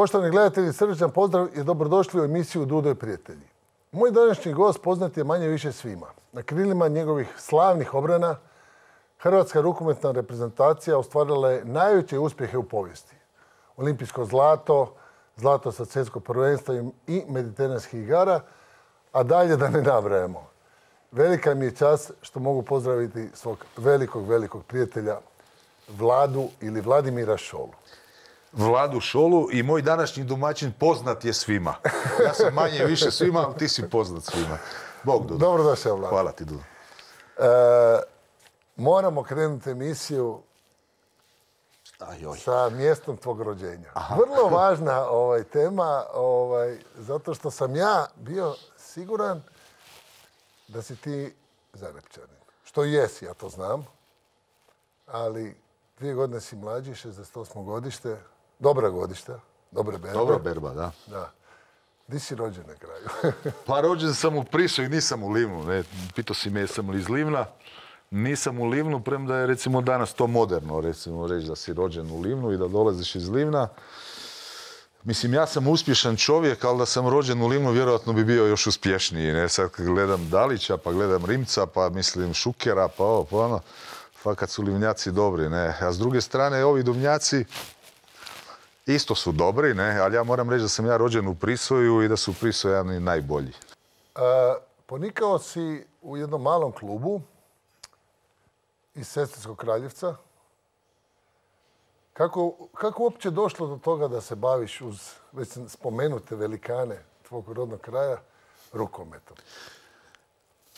Poštovani gledatelji, srdačan pozdrav i dobrodošli u emisiju Dudo i prijatelji. Moj današnji gost poznat je manje više svima. Na krilima njegovih slavnih obrana hrvatska rukometna reprezentacija ostvarila je najveće uspjehe u povijesti. Olimpijsko zlato, zlato sa svjetskog prvenstva i mediteranskih igara, a dalje da ne nabrajamo. Velika mi je čast što mogu pozdraviti svog velikog prijatelja Vladu ili Vladimira Šolu. Vladu Šolu i moj današnji domaćin poznat je svima. Ja sam manje više svima, ali ti si poznat svima. Bog, Dudo. Dobrodošao, Vlado. Hvala ti, Dudo. Moramo krenuti emisiju sa mjestom tvog rođenja. Aha. Vrlo važna tema, zato što sam ja bio siguran da si ti Zagrepčanin. Što jesi, ja to znam. Ali 2 godine si mlađi, 68. godište. Dobra godišta, dobre berbe. Dobra berba, da. Da. Di si rođen na kraju? Pa rođen sam u Prisu i nisam u Livnu. Ne. Pitao si me jesam li iz Livna. Nisam u Livnu, premda je recimo danas to moderno recimo reći da si rođen u Livnu i da dolaziš iz Livna. Mislim, ja sam uspješan čovjek, ali da sam rođen u Livnu vjerojatno bi bio još uspješniji. Ne? Sad kad gledam Dalića, pa gledam Rimca, pa mislim Šukera, pa ovo, pa ono. Fakat su Livnjaci dobri, ne. A s druge strane, ovi Duvnjaci isto su dobri, ne. Ali ja moram reći da sam ja rođen u Prisoju i da su Prisojani najbolji. Ponikao si u jednom malom klubu iz Sesvetskog Kraljevca. Kako uopće došlo do toga da se baviš uz već spomenute velikane tvog rodnog kraja rukometom?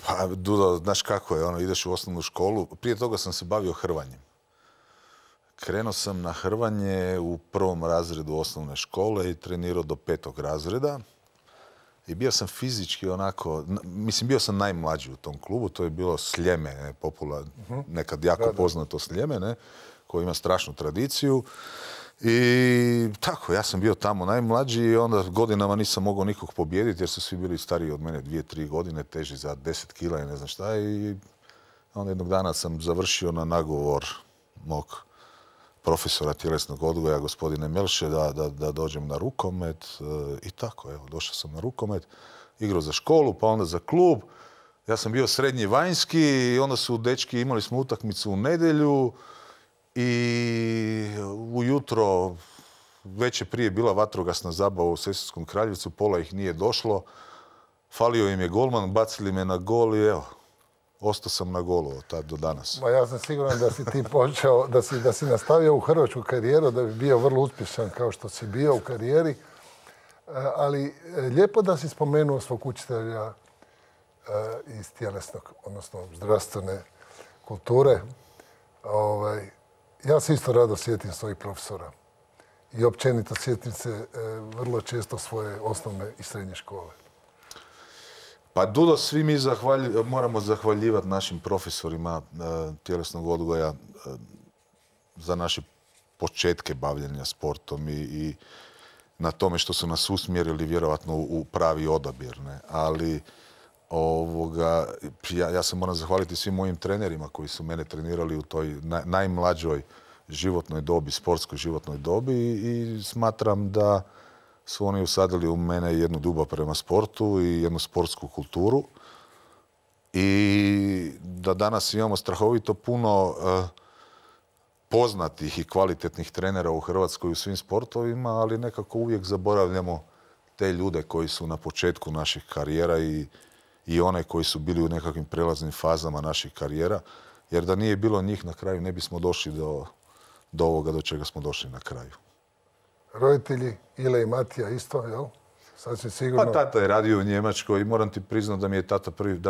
Pa, Dudo, znaš kako je, ideš u osnovnu školu. Prije toga sam se bavio hrvanjem. Krenuo sam na hrvanje u 1. razredu osnovne škole i trenirao do 5. razreda. I bio sam fizički onako, mislim, bio sam najmlađi u tom klubu. To je bilo Sljeme, nekad jako poznato Sljeme, koji ima strašnu tradiciju. I tako, ja sam bio tamo najmlađi i onda godinama nisam mogao nikog pobijediti jer su svi bili stariji od mene 2-3 godine, teži za 10 kila i ne znam šta. I onda jednog dana sam završio na nagovor mog profesora tjelesnog odgoja, gospodine Melše, da dođem na rukomet. I tako, evo, došao sam na rukomet, igrao za školu, pa onda za klub. Ja sam bio srednji vanjski i onda su dečki, imali smo utakmicu u nedjelju. I ujutro, već je prije bila vatrogasna zabava u Sesvetskom Kraljevcu, pola ih nije došlo. Falio im je golman, bacili me na gol i evo, ostao sam na golu od tad do danas. Ma ja sam siguran da si ti počeo, da si nastavio u hrvatsku karijeru, da bi bio vrlo uspješan kao što si bio u karijeri. Ali lijepo da si spomenuo svog učitelja iz tjelesnog, odnosno zdravstvene kulture. Ja se isto rado sjetim svojih profesora i općenito sjetim se vrlo često svoje osnovne i srednje škole. Pa Dudo, svi mi moramo zahvaljivati našim profesorima tjelesnog odgoja za naše početke bavljenja sportom i na tome što su nas usmjerili vjerojatno u pravi odabir. Ne? Ali ja se moram zahvaliti svim mojim trenerima koji su mene trenirali u toj najmlađoj životnoj dobi, sportskoj životnoj dobi i smatram da su oni usadili u mene jednu ljubav prema sportu i jednu sportsku kulturu i da danas imamo strahovito puno poznatih i kvalitetnih trenera u Hrvatskoj u svim sportovima, ali nekako uvijek zaboravljamo te ljude koji su na početku naših karijera i one koji su bili u nekakvim prelaznim fazama naših karijera, jer da nije bilo njih na kraju ne bismo došli do ovoga do čega smo došli na kraju. Roditelji, Ile i Matija isto, jel? Sasvim sigurno. Pa tata je radio u Njemačkoj i moram ti priznati da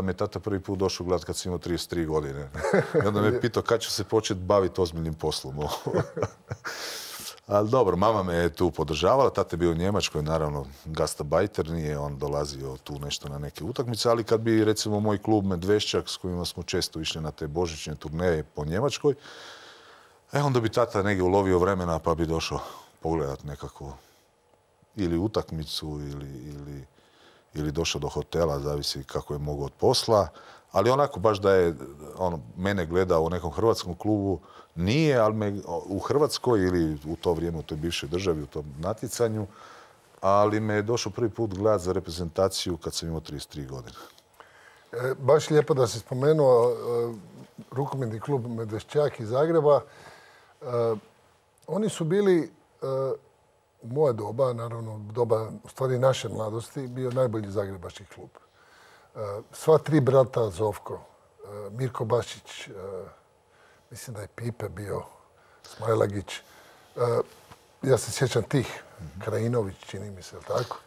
me je tata prvi put došao gledati kad sam imao 33 godine. I onda me pitao kad ću se početi baviti ozbiljnim poslom. Ali dobro, mama me je tu podržavala, tata je bio u Njemačkoj, naravno gastabajter, nije on dolazio tu nešto na neke utakmice, ali kad bi recimo moj klub Medveščak s kojima smo često išli na te božićne turneje po Njemačkoj, onda bi tata negdje ulovio vremena pa bi došao pogledat nekakvu ili utakmicu ili došao do hotela, zavisi kako je mogao od posla, Ali onako baš da je mene gledao u nekom hrvatskom klubu, nije, ali u Hrvatskoj ili u to vrijeme u toj bivšoj državi, u tom natjecanju, ali me je došao prvi put gledat za reprezentaciju kad sam imao 33 godine. Baš lijepo da si spomenuo rukometni klub Medvešćak iz Zagreba. Oni su bili u moje doba, naravno doba u stvari naše mladosti, bio najbolji zagrebački klub. Sva tri brata Zovko, Mirko Bašić, mislim da je Pipe bio, Smajlagić. Ja se sjećam tih, Krajinović, čini mi se, tako?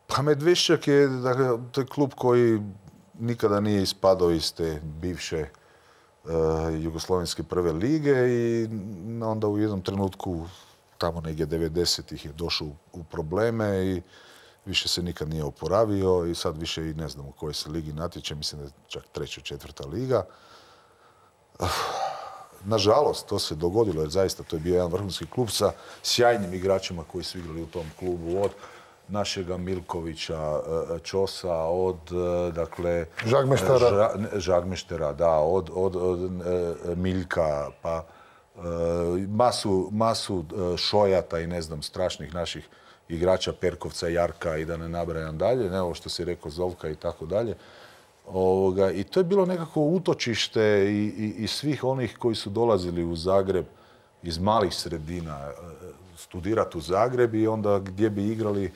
Pa Medvešćak je, dakle, to je klub koji nikada nije ispadao iz te bivše jugoslovenske prve lige i onda u jednom trenutku, tamo negdje 90-ih je došao u probleme i više se nikad nije oporavio i sad više i ne znam u kojoj se ligi natječe, mislim da je čak 3., 4. liga. Nažalost, to se dogodilo jer zaista to je bio jedan vrhunski klub sa sjajnim igračima koji su igrali u tom klubu, od našega Milkovića, Čosa, od, dakle... Žagmeštera, da, od Miljka, pa masu Šojata i ne znam, strašnih naših igrača, Perkovca, Jarka i da ne nabrajam dalje, ne ovo što si rekao, Zovka i tako dalje. I to je bilo nekako utočište i svih onih koji su dolazili u Zagreb iz malih sredina studirati u Zagreb i onda gdje bi igrali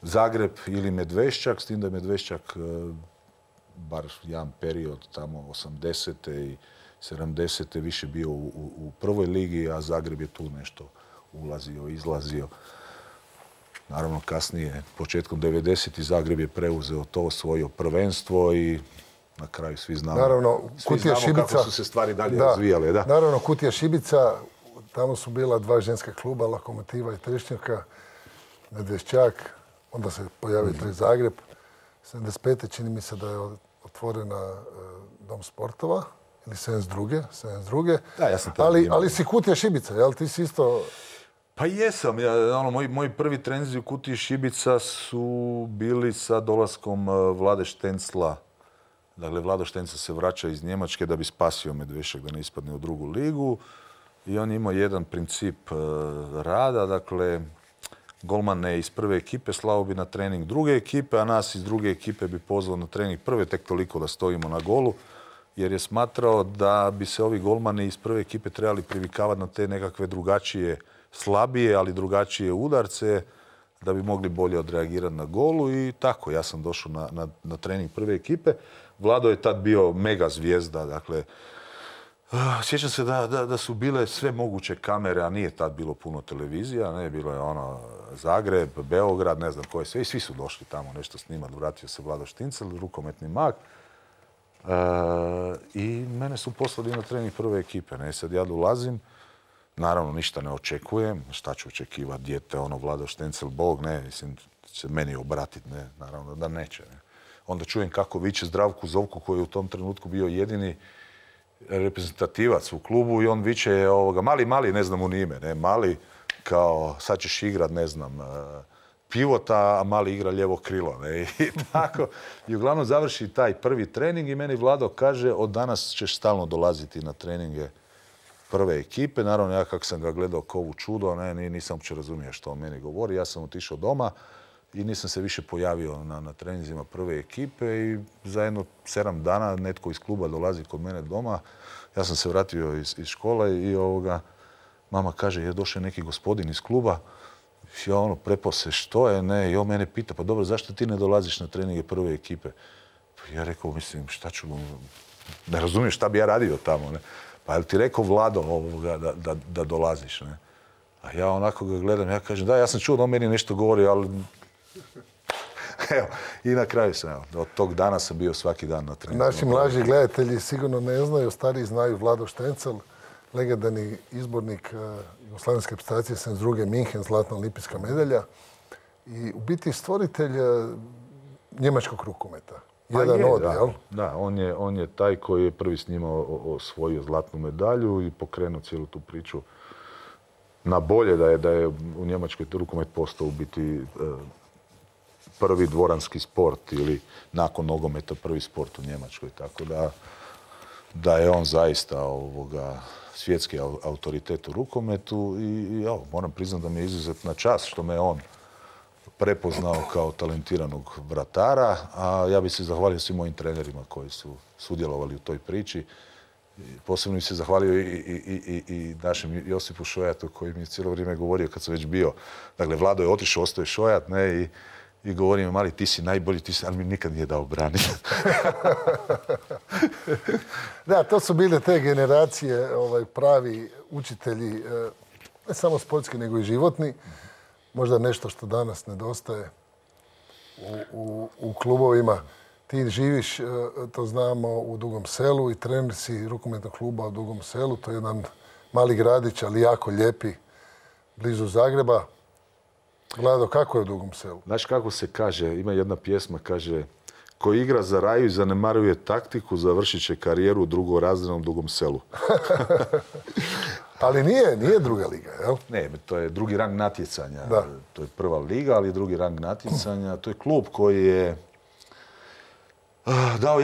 Zagreb ili Medvešćak, s tim da je Medvešćak bar jedan period tamo 80. i 70. više bio u prvoj ligi, a Zagreb je tu nešto ulazio, izlazio. Naravno, kasnije, početkom 90. Zagreb je preuzeo to, osvojio prvenstvo i na kraju svi znamo, kako su se stvari dalje razvijale. Da. Naravno, Kutija Šibica, tamo su bila dva ženska kluba, Lokomotiva i Trešnjaka, Medvešćak, onda se pojavio taj Zagreb. 75. čini mi se da je otvorena Dom sportova, ili 72. Da, ja sam ali si Kutija Šibica, jel? Ti si isto... Pa jesam. Moji prvi treninzi u Kutiji Šibica su bili sa dolaskom Vlade Štencla. Dakle, Vlado Štencla se vraća iz Njemačke da bi spasio Medvešćak da ne ispadne u drugu ligu. I on je imao jedan princip rada. Dakle, golmane iz prve ekipe slao bi na trening druge ekipe, a nas iz druge ekipe bi pozvao na trening prve, tek toliko da stojimo na golu. Jer je smatrao da bi se ovi golmani iz prve ekipe trebali privikavati na te nekakve drugačije, slabije, ali drugačije udarce, da bi mogli bolje odreagirati na golu i tako. Ja sam došao na trening prve ekipe. Vlado je tad bio mega zvijezda, dakle, sjećam se da su bile sve moguće kamere, a nije tad bilo puno televizija, ne, bilo je Zagreb, Beograd, ne znam koje sve, i svi su došli tamo nešto snimati. Vratio se Vlado Štincel, rukometni mag. I mene su poslali na trening prve ekipe. Ne, sad ja dolazim, naravno ništa ne očekujem, šta ću očekivati, dijete, Vlado Štencel, Bog, ne, mislim, će meni obratiti, ne, naravno da neće. Ne. Onda čujem kako viče Zdravku Zovku, koji je u tom trenutku bio jedini reprezentativac u klubu i on viče mali, ne znam mu ni ime, ne, mali, kao sad ćeš igrat, ne znam, pivota, a mali igra lijevo krilo. Ne? I tako. I uglavnom završi taj prvi trening i meni Vlado kaže od danas ćeš stalno dolaziti na treninge prve ekipe. Naravno, ja kako sam ga gledao kao u čudo, nisam uopće razumio što on meni govori. Ja sam otišao doma i nisam se više pojavio na treninzima prve ekipe i za jedno 7 dana netko iz kluba dolazi kod mene doma. Ja sam se vratio iz škole i mama kaže je došao neki gospodin iz kluba. Ja prepao se što je, ne, i on mene pita, pa dobro, zašto ti ne dolaziš na treninge prve ekipe? Pa ja rekao, mislim, šta ću, ne razumijem šta bi ja radio tamo, ne? Pa je li ti rekao Vlado da dolaziš, ne? A ja onako ga gledam, ja kažem, da, ja sam čuo da on meni nešto govori, ali... Evo, i na kraju sam, evo, od tog dana sam bio svaki dan na treningu. Naši mlađi gledatelji sigurno ne znaju, stariji znaju Vlado Štencel, legendarni izbornik jugoslavenske reprezentacije 72. Minhen, zlatna olimpijska medalja i u biti stvoritelj njemačkog rukometa. Jedan od, jel? Da, on je taj koji je prvi s njima osvojio zlatnu medalju i pokrenuo cijelu tu priču na bolje, da je u Njemačkoj rukomet postao u biti prvi dvoranski sport ili nakon nogometa prvi sport u Njemačkoj. Tako da je on zaista svjetski autoritet u rukometu i moram priznati da mi je izuzetna čast što me on prepoznao kao talentiranog vratara, a ja bih se zahvalio svim mojim trenerima koji su sudjelovali u toj priči. Posebno bih se zahvalio i našem Josipu Šojatu koji mi je cijelo vrijeme govorio kad sam već bio. Dakle, Vlado je otišao, ostao je Šojat, ne, i govori mi, mali, ti si najbolji, ali mi nikad nije dao braniti. Da, to su bile te generacije, pravi učitelji, ne samo sportski, nego i životni. Možda nešto što danas nedostaje u klubovima. Ti živiš, to znamo, u Dugom Selu i trener si rukometnog kluba u Dugom Selu. To je jedan mali gradić, ali jako lijepi, blizu Zagreba. Vlado, kako je u Dugom Selu? Znaš kako se kaže, ima jedna pjesma, kaže: ko igra za Raju i zanemaruje taktiku, završit će karijeru u drugorazrednom Dugom Selu. Ali nije druga liga, jel? Ne, to je drugi rang natjecanja. Da. To je prva liga, ali drugi rang natjecanja. To je klub koji je dao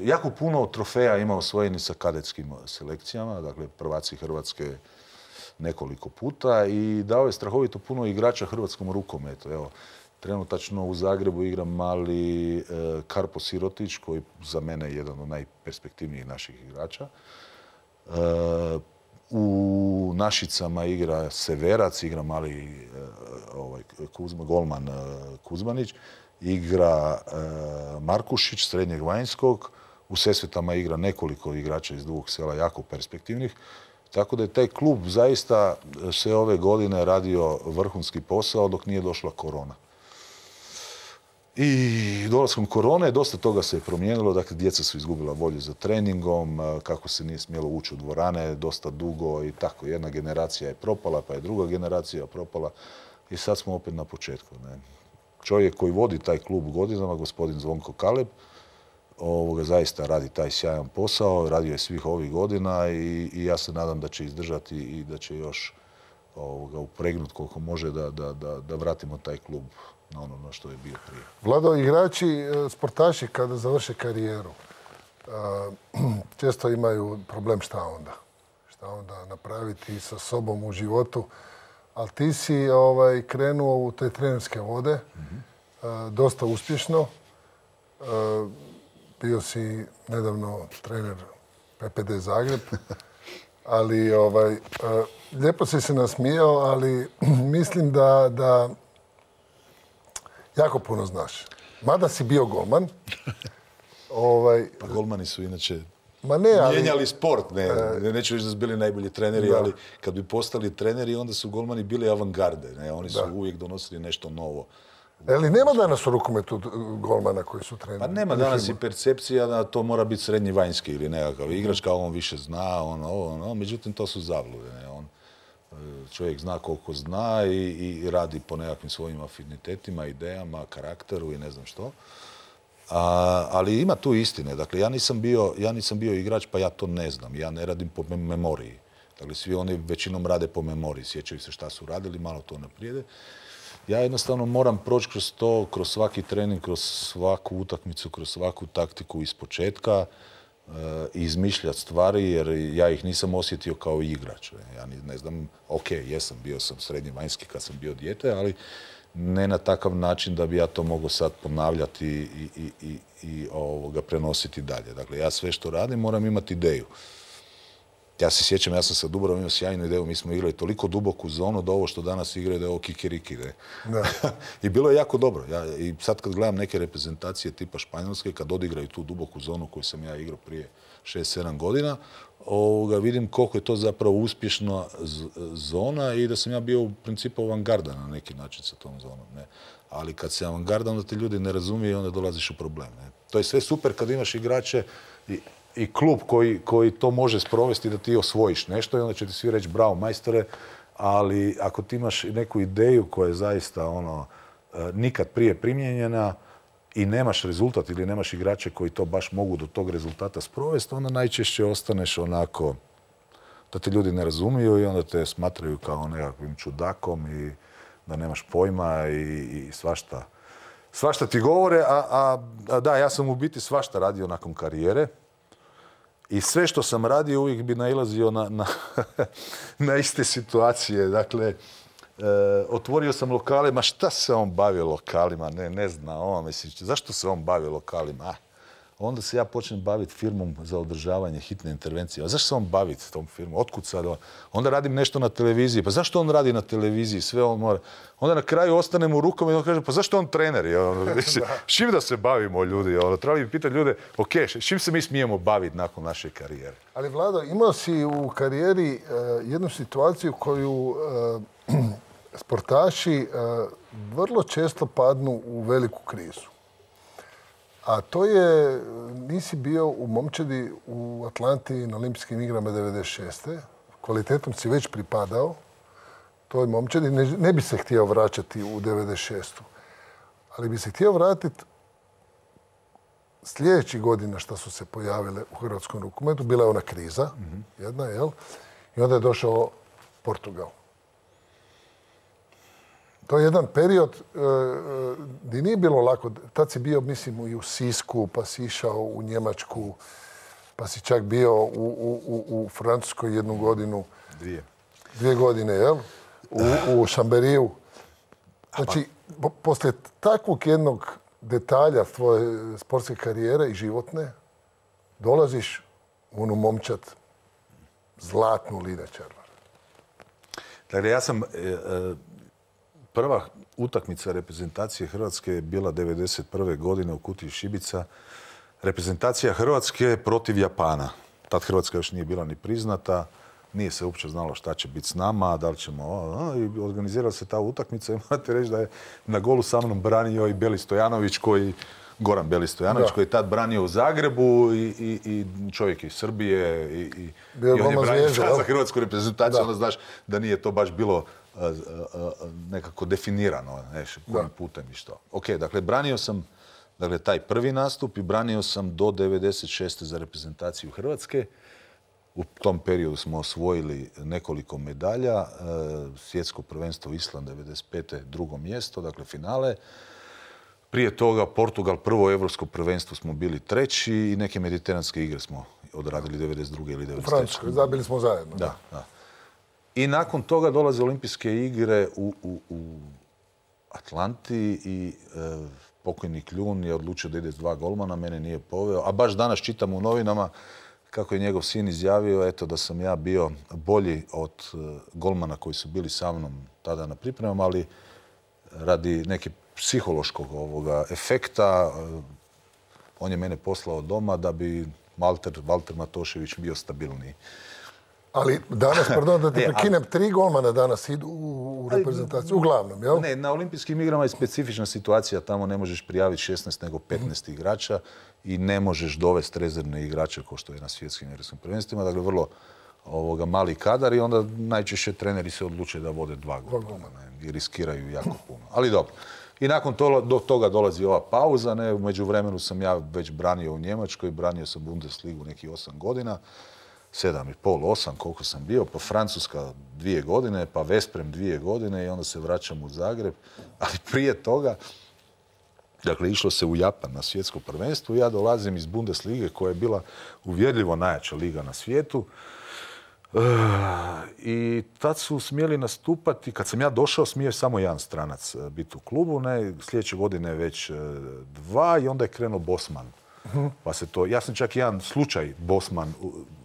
jako puno trofeja ima osvojeni sa kadetskim selekcijama, dakle prvaci Hrvatske nekoliko puta, i dao je strahovito puno igrača hrvatskom rukometu. Evo, trenutačno u Zagrebu igra mali Karpo Sirotić, koji za mene je jedan od najperspektivnijih naših igrača. U Našicama igra Severac, igra mali golman Kuzmanić, igra Markušić, srednjeg vanjskog. U Sesvetama igra nekoliko igrača iz Dugog Sela, jako perspektivnih. Tako da je taj klub zaista sve ove godine radio vrhunski posao dok nije došla korona. I dolaskom korone dosta toga se je promijenilo, dakle djeca su izgubila volju za treningom, kako se nije smjelo ući u dvorane dosta dugo i tako. Jedna generacija je propala, pa je druga generacija propala i sad smo opet na početku. Ne? Čovjek koji vodi taj klub godinama, gospodin Zvonko Kaleb, zaista radi taj sjajan posao, radio je svih ovih godina i ja se nadam da će izdržati i da će još upregnuti koliko može da vratimo taj klub na ono na što je bio prije. Vlado, igrači, sportaši kada završe karijeru, često imaju problem šta onda. Šta onda napraviti sa sobom u životu. Ali ti si krenuo u te trenerske vode, dosta uspješno. Bio si nedavno trener PPD Zagreb, ali lijepo si se nasmijao, ali mislim da jako puno znaš. Mada si bio golman. Pa golmani su inače ali mijenjali sport. Neću reći da su bili najbolji treneri, ali kad bi postali treneri, onda su golmani bili avangarde. Ne? Oni su uvijek donosili nešto novo. Ali nema danas u rukometu golmana koji su treneri? Pa nema danas i percepcija da to mora biti srednji vanjski ili nekakav igrač, kao on više zna, međutim to su zablude. Ne? Čovjek zna koliko zna i radi po nekakvim svojim afinitetima, idejama, karakteru i ne znam što. Ali ima tu istine. Dakle, ja nisam bio igrač, pa ja to ne znam. Ja ne radim po memoriji. Dakle, svi oni većinom rade po memoriji. Sjećaju se šta su radili, malo to naprijede. Ja jednostavno moram proći kroz to, kroz svaki trening, kroz svaku utakmicu, kroz svaku taktiku iz početka i izmišljati stvari, jer ja ih nisam osjetio kao igrač. Ja ne znam, bio sam srednji vanjski kad sam bio dijete, ali ne na takav način da bi ja to mogao sad ponavljati i prenositi dalje. Dakle, ja sve što radim moram imati ideju. Ja se sjećam, ja sam sa Dubrovom imao sjajnu ideju, mi smo igrali toliko duboku zonu da ovo što danas igraju da je ovo kikiriki. I bilo je jako dobro. I sad kad gledam neke reprezentacije tipa Španjolske, kad odigraju tu duboku zonu koju sam ja igrao prije 6-7 godina, vidim koliko je to zapravo uspješna zona i da sam ja bio u principu avangarda na neki način sa tom zonom. Ne? Ali kad se avangarda, onda ti ljudi ne razumiju i onda dolaziš u problem. Ne? To je sve super kad imaš igrače i klub koji to može sprovesti da ti osvojiš nešto i onda će ti svi reći bravo majstore, ali ako ti imaš neku ideju koja je zaista nikad prije primijenjena i nemaš rezultat ili nemaš igrače koji to baš mogu do tog rezultata sprovesti, onda najčešće ostaneš onako da te ljudi ne razumiju i onda te smatraju kao nekakvim čudakom i da nemaš pojma i svašta ti govore. A da, ja sam u biti svašta radio nakon karijere. I sve što sam radio uvijek bi nailazio na iste situacije. Dakle, otvorio sam lokale, ma šta se on bavio lokalima? Ne zna on, mislim, zašto se on bavio lokalima? Onda se ja počnem baviti firmom za održavanje hitne intervencije. A zašto se on bavi tom firmom? Otkud sad on? Onda radim nešto na televiziji. Pa zašto on radi na televiziji? Sve on mora. Onda na kraju ostanem u rukama i on kaže, pa zašto on trener? Čim da se bavimo, ljudi? Trebali bi pitati ljude, ok, čim se mi smijemo baviti nakon naše karijere? Ali Vlado, imao si u karijeri jednu situaciju koju sportaši vrlo često padnu u veliku krizu. A to je, nisi bio u Momčadi u Atlanti na olimpijskim igrama 96. Kvalitetom si već pripadao toj Momčadi. Ne bi se htio vraćati u 96. Ali bi se htio vratiti sljedećih godina što su se pojavile u hrvatskom rukometu. Bila je ona kriza, jedna, jel? I onda je došao Portugal. To je jedan period gdje nije bilo lako. Tad si bio, mislim, i u Sisku, pa si išao u Njemačku, pa si čak bio u Francuskoj 1 godinu. 2 godine, jel? U Šamberiju. Znači, poslije takvog jednog detalja tvoje sportske karijere i životne, dolaziš u onu Momčad, zlatnu Lina Červar. Dakle, ja sam... Prva utakmica reprezentacije Hrvatske je bila 1991. godine u Kutiji Šibica. Reprezentacija Hrvatske protiv Japana. Tad Hrvatska još nije bila ni priznata. Nije se uopće znalo šta će biti s nama, da li ćemo... I organizirala se ta utakmica i morate reći da je na golu sa mnom branio i Beli Stojanović Goran Beli Stojanović, koji je tad branio u Zagrebu i čovjek iz Srbije i on je branio za hrvatsku reprezentaciju. Onda znaš da nije to baš bilo nekako definirano, kojim putem i što. Ok, dakle, branio sam taj prvi nastup i branio sam do 96. za reprezentaciju Hrvatske. U tom periodu smo osvojili nekoliko medalja. Svjetsko prvenstvo Island 95. 2. mjesto, dakle finale. Prije toga Portugal, prvo evropsko prvenstvo smo bili 3. i neke mediteranske igre smo odradili 92. ili 93. U Francuskoj, zabili smo zajedno. Da. I nakon toga dolaze olimpijske igre u Atlanti i pokojni Kljun je odlučio da ide s 2 golmana, mene nije poveo. A baš danas čitam u novinama kako je njegov sin izjavio da sam ja bio bolji od golmana koji su bili sa mnom tada na pripremama, ali radi neke psihološkog efekta on je mene poslao doma da bi Valter Matošević bio stabilniji. Ali danas, pardon da ti prekinem, 3 golmana danas idu u reprezentaciju, uglavnom, jel? Ne, na olimpijskim igrama je specifična situacija, tamo ne možeš prijaviti 16 nego 15 igrača i ne možeš dovesti rezervne igrače kao što je na svjetskim europskim prvenstvima, dakle vrlo mali kadar i onda najčešće treneri se odluče da vode 2 golmana i riskiraju jako puno. Ali dobro. I nakon toga dolazi ova pauza, u međuvremenu sam ja već branio u Njemačkoj, branio sam Bundesligu nekih 8 godina. 7,5, 8, koliko sam bio, pa Francuska 2 godine, pa Vesprem 2 godine i onda se vraćam u Zagreb. Ali prije toga, dakle, išlo se u Japan na svjetsko prvenstvo. Ja dolazim iz Bundeslige koja je bila uvjerljivo najjača liga na svijetu. I tad su smjeli nastupati, kad sam ja došao, smije samo jedan stranac biti u klubu. Sljedeće godine već 2 i onda je krenuo Bosman. Pa se to, ja sam čak jedan slučaj Bosman,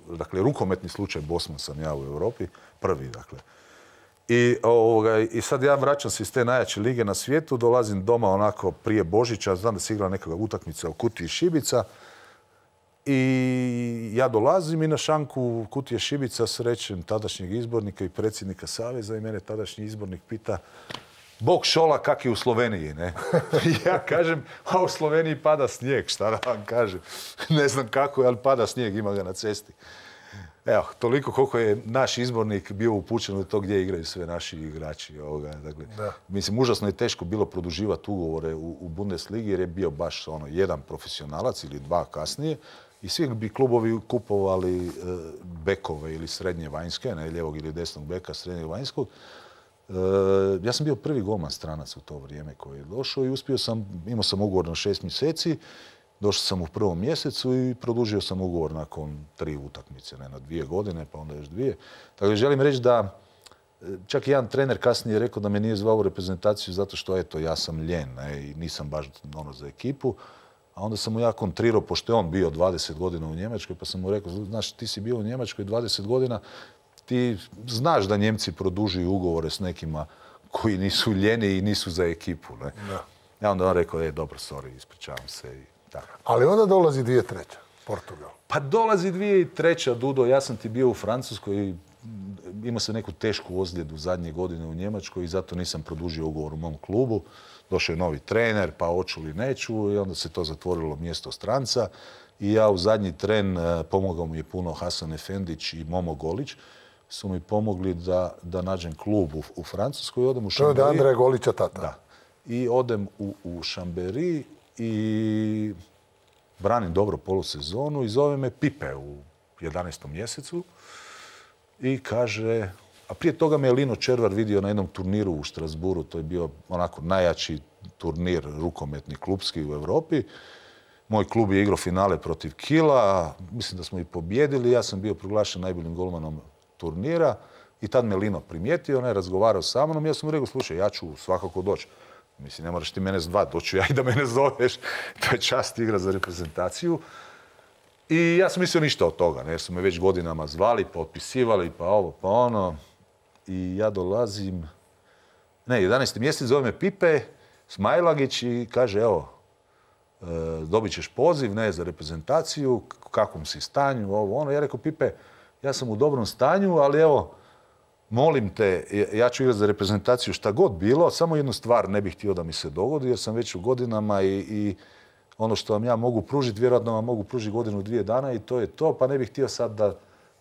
dakle rukometni slučaj Bosman sam ja u Europi, prvi dakle. I sad ja vraćam se iz te najjače lige na svijetu, dolazim doma onako prije Božića, znam da se igra neka utakmica u Kutiji Šibica i ja dolazim i na šanku Kutije Šibica srećem tadašnjeg izbornika i predsjednika Saveza i mene tadašnji izbornik pita Bog šola, kak je u Sloveniji, ne? Ja kažem, a u Sloveniji pada snijeg, šta da vam kažem. Ne znam kako je, ali pada snijeg, ima ga na cesti. Evo, toliko koliko je naš izbornik bio upućen u to gdje igraju sve naši igrači. Dakle, mislim, užasno je teško bilo produživati ugovore u Bundesligi jer je bio baš jedan profesionalac ili 2 kasnije i svi bi klubovi kupovali bekove ili srednje vanjske, ne, ljevog ili desnog beka, srednjeg vanjskog. Ja sam bio prvi golman stranac u to vrijeme koji je došao i imao sam ugovor na 6 mjeseci, došao sam u prvom mjesecu i produžio sam ugovor nakon 3 utakmice, ne na 2 godine, pa onda još 2. Tako da želim reći da čak i jedan trener kasnije je rekao da me nije zvao u reprezentaciju zato što, eto, ja sam ljen, ne, i nisam baš za ekipu. A onda sam mu ja kontrirao, pošto je on bio 20 godina u Njemačkoj, pa sam mu rekao, znaš, ti si bio u Njemačkoj 20 godina, ti znaš da Njemci produžuju ugovore s nekima koji nisu ljeni i nisu za ekipu. Ne? Da. Ja onda on rekao, dobro, sorry, ispričavam se. I tako. Ali onda dolazi 2003. Portugal. Pa dolazi 2003. Dudo, ja sam ti bio u Francuskoj i imao sam neku tešku ozljedu zadnje godine u Njemačkoj i zato nisam produžio ugovor u mom klubu. Došao je novi trener, pa hoću li neću, i onda se to zatvorilo mjesto stranca. I ja u zadnji tren, pomogao mi je puno Hasan Efendić i Momo Golić, su mi pomogli da nađem klub u Francuskoj i odem u Chambéry. To je Andreja Golića tata. Da. I odem u Chambéry i branim dobro polusezonu i zove me Pipe u 11. mjesecu i kaže, a prije toga me je Lino Červar vidio na jednom turniru u Strasburu, to je bio onako najjači turnir rukometni klubski u Europi. Moj klub je igrao finale protiv Kila, mislim da smo i pobjedili, ja sam bio proglašen najboljim golmanom turnira i tad me Lino primijetio, on je razgovarao sa mnom i ja sam mu rekao, slušaj, ja ću svakako doći. Mislim, ne moraš ti mene zvati, doću ja i da mene zoveš. To je čast igra za reprezentaciju. I ja sam mislio ništa od toga, jer su me već godinama zvali, pa otpisivali, pa ovo, pa ono. I ja dolazim, 11. mjesec, zove me Pipe Smajlagić i kaže, evo, dobit ćeš poziv, za reprezentaciju, u kakvom si stanju, ovo, ono. Ja rekao, Pipe, ja sam u dobrom stanju, ali evo, molim te, ja ću igrati za reprezentaciju šta god bilo, samo jednu stvar ne bih htio da mi se dogodi, jer sam već u godinama i ono što vam ja mogu pružiti, vjerojatno vam mogu pružiti 1-2 dana i to je to, pa ne bih htio sad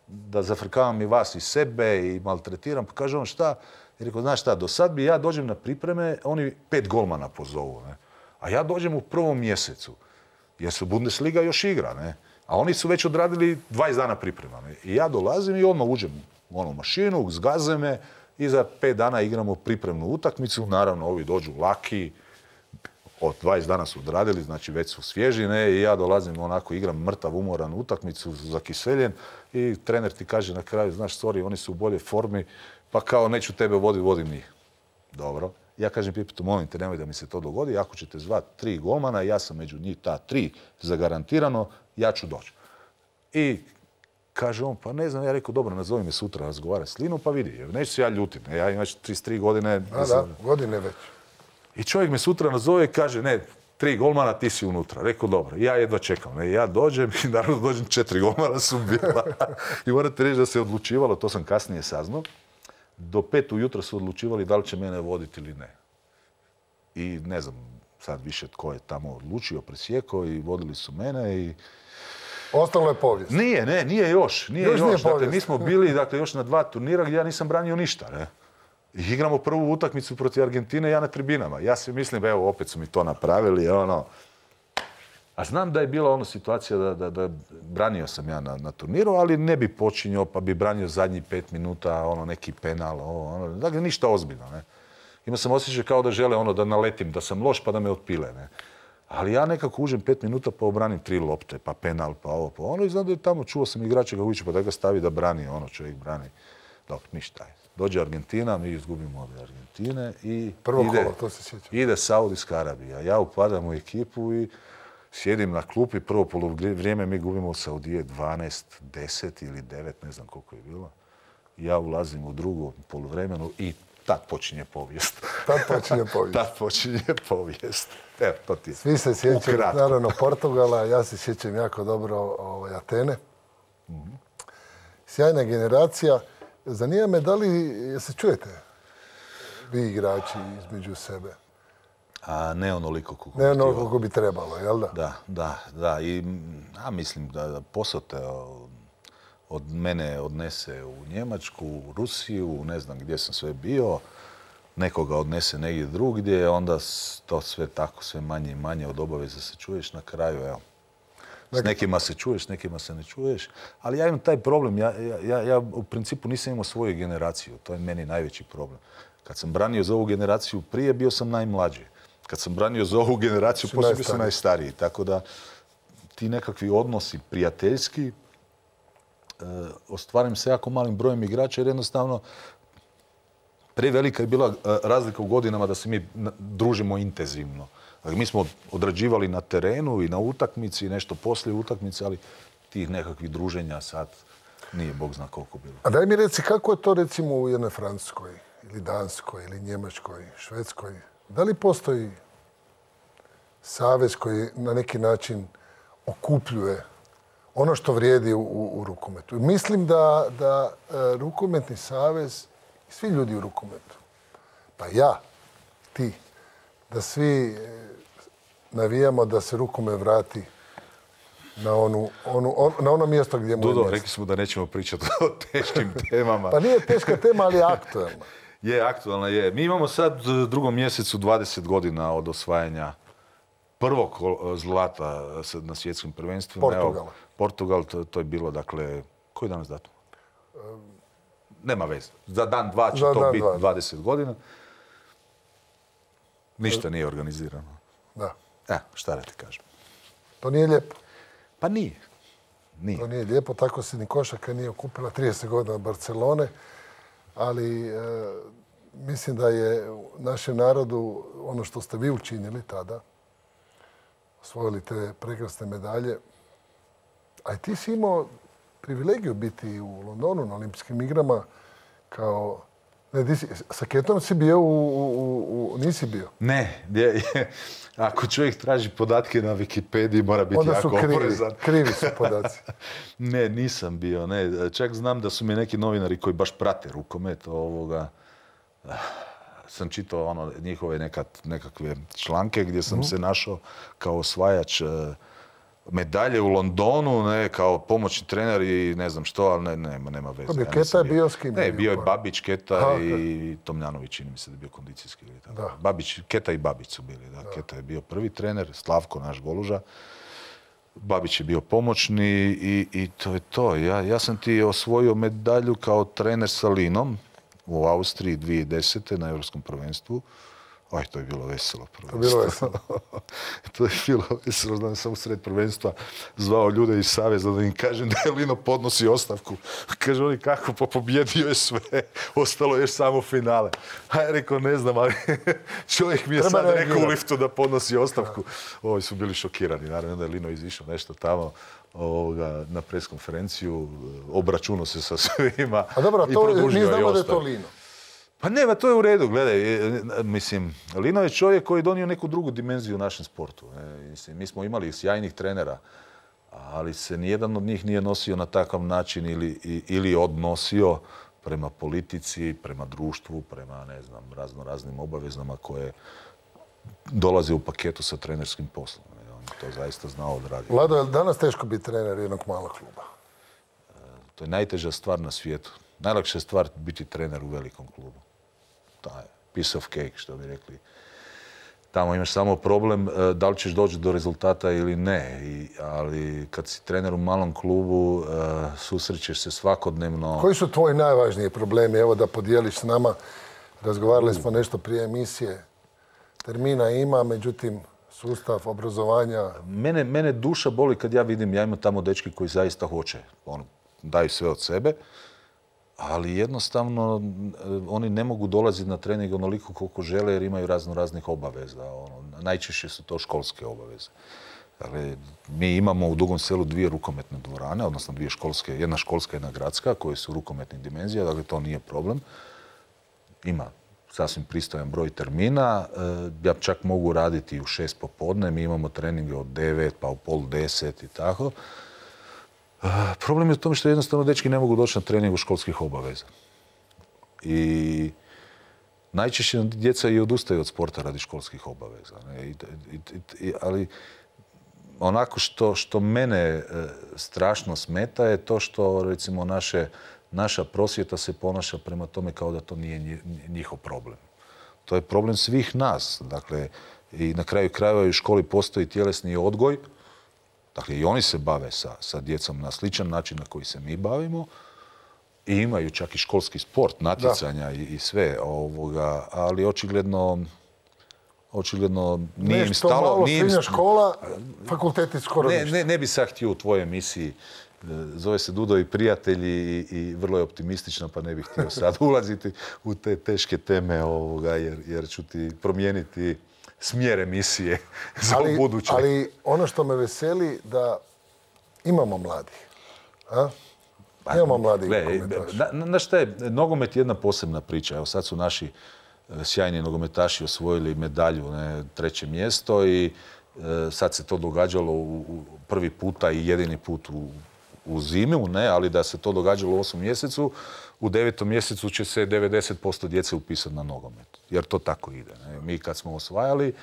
da zafrkavam i vas i sebe i maltretiram. Pa kaže on, šta? I rekao, znaš šta, do sad bi ja dođem na pripreme, oni 5 golmana pozovu, ne? A ja dođem u prvom mjesecu, jer su Bundesliga još igra, ne? A oni su već odradili 20 dana priprema. Ne? I ja dolazim i odmah uđem u onu mašinu, zgaze me i za 5 dana igramo pripremnu utakmicu. Naravno, ovi dođu laki, od 20 dana su odradili, znači već su svježi, ne? I ja dolazim onako, igram mrtav, umoran utakmicu, zakiseljen i trener ti kaže na kraju, znaš, sorry, oni su u boljoj formi, pa kao neću tebe voditi, vodim njih. Dobro. Ja kažem Pipetu, molim te, nemoj da mi se to dogodi, ako ćete zvati 3 golmana, ja sam među njih ta 3 zagarantirano, ja ću doći. I kaže on, pa ne znam, ja rekao, dobro, nazovi me sutra razgovarati s Linom, pa vidi, neću se ja ljutiti, ja imam 33 godine. Da, godine već. I čovjek me sutra nazove i kaže, ne, 3 golmana, ti si unutra. Rekao, dobro, ja jedva čekam. Ja dođem i naravno dođem, 4 golmana su bila. I morate reći da se odlučivalo, to sam kasnije saznao, do 5 ujutro su odlučivali da li će mene voditi ili ne. I ne znam sad više tko je tamo odlučio, presjekao i vodili su mene i... Ostalo je povijest. Nije još. Dakle, mi smo bili još na 2 turnira gdje ja nisam branio ništa, ne? I igramo prvu utakmicu protiv Argentine, ja na tribinama. Ja si mislim, evo, opet su mi to napravili, ono... A znam da je bila situacija da branio sam ja na turniru, ali ne bi počinjao, pa bi branio zadnjih 5 minuta, neki penal, dakle, ništa ozbiljno, ne? Imao sam osjećaj kao da žele da naletim, da sam loš pa da me otpile, ne? Ali ja nekako uđem 5 minuta pa obranim 3 lopte, pa penal, pa ovo, pa ono. I znam da je tamo, čuo sam igrača ga uviću, pa da ga stavi da brani, čovjek brani. Dobro, ništa je. Dođe Argentina, mi izgubimo od Argentine i ide Saudijska Arabija. Ja upadam u ekipu i sjedim na klupi, prvo poluvrijeme mi gubimo od Saudije 12-10 ili 9, ne znam koliko je bilo. Ja ulazim u drugo poluvremenu i tad počinje povijest. Tad počinje povijest. Evo, to ti je. Svi se sjećaju, naravno, Portugala, ja se sjećam jako dobro Atene. Sjajna generacija. Zanima me da li se čujete vi igrači između sebe? Ne onoliko koliko ne onoliko koliko bi trebalo, jel da? Da. I mislim da posao te od mene odnese u Njemačku, u Rusiju, ne znam gdje sam sve bio, nekoga odnese negdje drugdje, onda to sve tako, sve manje i manje od obaveza se čuješ na kraju, evo. S nekima se čuješ, s nekima se ne čuješ, ali ja imam taj problem, ja u principu nisam imao svoju generaciju, to je meni najveći problem. Kad sam branio za ovu generaciju prije, bio sam najmlađi. Kad sam branio za ovu generaciju, poslije bio sam najstariji. Tako da ti nekakvi odnosi prijateljski ostvarim se jako malim brojem igrača jer jednostavno prevelika je bila razlika u godinama da se mi družimo intenzivno. Dakle, mi smo odrađivali na terenu i na utakmici i nešto poslije utakmice, ali tih nekakvih druženja sad nije Bog zna koliko bilo. A daj mi reci, kako je to recimo u jednoj Francuskoj ili Danskoj ili Njemačkoj, Švedskoj? Da li postoji savez koji na neki način okupljuje ono što vrijedi u rukometu? Mislim da rukometni savez i svi ljudi u rukometu, pa ja, ti, da svi navijamo da se rukomet vrati na ono mjesto gdje mu je mjesto. Rekli smo da nećemo pričati o teškim temama. Pa nije teška tema, ali je aktualna. Je, aktualna je. Mi imamo sad u drugom mjesecu 20 godina od osvajanja prvog zlata na svjetskim prvenstvima. Portugal, to je bilo, dakle, koji danas datum? Nema veze. Za dan, dva će to biti 20 godina. Ništa nije organizirano. Da. Šta da ti kažem? To nije lijepo. Pa nije. To nije lijepo. Tako se ni košarka nije okupila 30 godina od Barcelone. Ali mislim da je našem narodu ono što ste vi učinili tada, osvojili te prekrasne medalje, a i ti si imao privilegiju biti u Londonu na olimpijskim igrama kao... Sa ketom si bio nisi bio? Ne. Ako čovjek traži podatke na Wikipediji, mora biti jako oprezan. Krivi su podaci. Ne, nisam bio. Ne. Čak znam da su mi neki novinari koji baš prate rukomet sam čitao njihove nekakve članke gdje sam se našao kao osvajač medalje u Londonu, kao pomoćni trener i ne znam što, ali nema veze. Keta je bio s kim? Ne, bio je Babić, Keta i Tomljanović, čini mi se da je bio kondicijski. Keta i Babić su bili. Keta je bio prvi trener, Slavko, naš goluža. Babić je bio pomoćni i to je to. Ja sam ti osvojio medalju kao trener sa Linom u Austriji 2010. na Europskom prvenstvu. To je bilo veselo prvenstvo. To je bilo veselo. Znam, sam u sred prvenstva zvao ljude iz Saveza da im kažem da je Lino podnosi ostavku. Kaže oni kako, pa pobjedio je sve. Ostalo je samo finale. A ja rekao ne znam, ali čovjek mi je sad rekao u liftu da podnosi ostavku. Ovi su bili šokirani. Naravno da je Lino izišao nešto tamo na preskonferenciju, obračunao se sa svima. A dobro, mi znamo da je to Lino. Pa ne, to je u redu, gledaj, mislim, Lino je čovjek koji je donio neku drugu dimenziju u našem sportu. Mi smo imali sjajnih trenera, ali se nijedan od njih nije nosio na takav način ili odnosio prema politici, prema društvu, prema, ne znam, raznim obavezama koje dolaze u paketu sa trenerskim poslom. On je to zaista znao odraditi. Vlado, je li danas teško biti trener jednog malog kluba? To je najteža stvar na svijetu. Najlakša je stvar biti trener u velikom klubu. Taj piece of cake, što bi rekli. Tamo imaš samo problem da li ćeš doći do rezultata ili ne. Ali kad si trener u malom klubu, susrećeš se svakodnevno. Koji su tvoji najvažniji problemi? Evo da podijeliš s nama. Razgovarali smo nešto prije emisije. Termina ima, međutim, sustav obrazovanja... Mene duša boli kad ja vidim, ja imam tamo dečki koji zaista hoće. Daju sve od sebe. Ali jednostavno oni ne mogu dolaziti na trening onoliko koliko žele jer imaju raznih obaveza. Najčešće su to školske obaveze. Dakle, mi imamo u Dugom Selu 2 rukometne dvorane, odnosno 2 školske, jedna školska i jedna gradska, koje su rukometnih dimenzija, dakle to nije problem. Ima sasvim pristojan broj termina. Ja čak mogu raditi u 6 popodne, mi imamo treninge od 9 pa u pola 10 i tako. Problem je u tome što jednostavno dečki ne mogu doći na treningu školskih obaveza. I najčešće djeca i odustaju od sporta radi školskih obaveza. Ali onako što mene strašno smeta je to što recimo naša prosvjeta se ponaša prema tome kao da to nije njihov problem. To je problem svih nas. Dakle, i na kraju krajeva u školi postoji tjelesni odgoj. Dakle, i oni se bave sa djecom na sličan način na koji se mi bavimo, I imaju čak i školski sport, natjecanja i sve, ali očigledno nije im stalo. Nešto malo srednja škola, fakulteti skoro ništa. Ne bi sad htio u tvojoj emisiji, zove se Dudo i prijatelji i vrlo je optimistična, pa ne bih htio sad ulaziti u te teške teme, jer ću ti promijeniti smjer emisije za buduće. Ali ono što me veseli da imamo mladih. Imamo mladih nogometaša. Znaš šta je, nogomet je jedna posebna priča. Evo sad su naši sjajni nogometaši osvojili medalju, 3. mjesto i sad se to događalo prvi puta i jedini put u zimu, ali da se to događalo u 8. mjesecu, u 9. mjesecu će se 90% djece upisati na nogomet. Jer to tako ide. Mi kad smo osvajali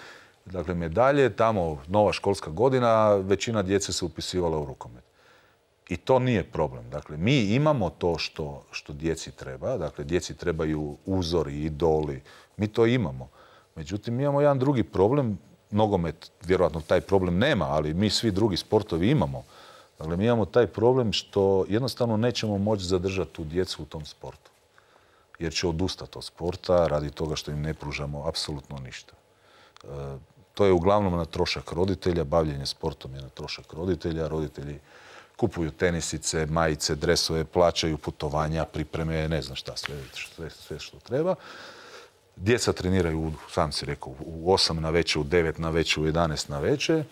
medalje, tamo nova školska godina, većina djece se upisivala u rukomet. I to nije problem. Dakle, mi imamo to što djeci treba. Dakle, djeci trebaju uzori, idoli. Mi to imamo. Međutim, mi imamo jedan drugi problem. Nogomet, vjerojatno taj problem nema, ali mi svi drugi sportovi imamo. Dakle, mi imamo taj problem što jednostavno nećemo moći zadržati tu djecu u tom sportu. Jer će odustati od sporta radi toga što im ne pružamo apsolutno ništa. To je uglavnom na trošak roditelja. Bavljenje sportom je na trošak roditelja. Roditelji kupuju tenisice, majice, dresove, plaćaju putovanja, pripreme, ne znam šta, sve što treba. Djeca treniraju, sam si rekao, u 8 navečer, u 9 navečer, u 11 navečer.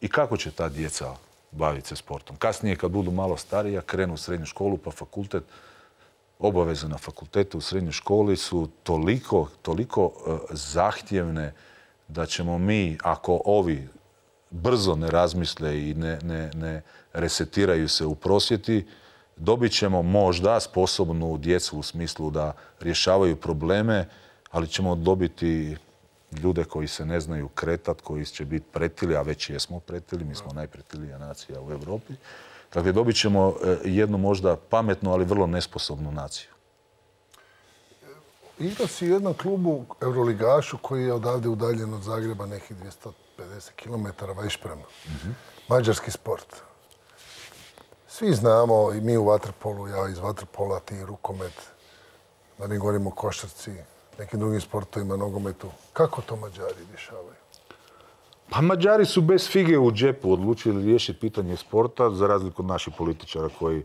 I kako će ta djeca baviti se sportom? Kasnije, kad budu malo starija, krenu u srednju školu, pa fakultet, obaveze na fakultetu u srednjoj školi su toliko zahtjevne da ćemo mi, ako ovi brzo ne razmisle i ne resetiraju se u prosvjeti, dobit ćemo možda sposobnu djecu u smislu da rješavaju probleme, ali ćemo dobiti ljude koji se ne znaju kretati, koji će biti pretili, a već jesmo pretili, mi smo najpretilija nacija u Europi. Dakle, dobit ćemo jednu možda pametnu, ali vrlo nesposobnu naciju. Igrao si u jednom klubu, Euroligašu, koji je odavde udaljen od Zagreba nekih 250 km Vajšprema. Mađarski sport. Svi znamo, i mi u vaterpolu, ja iz vaterpola, ti rukomet, da ne govorimo o košarci, nekim drugim sportovima, nogometu. Kako to Mađari rješavaju? Pa Mađari su bez fige u džepu odlučili riješiti pitanje sporta, za razliku od naših političara koji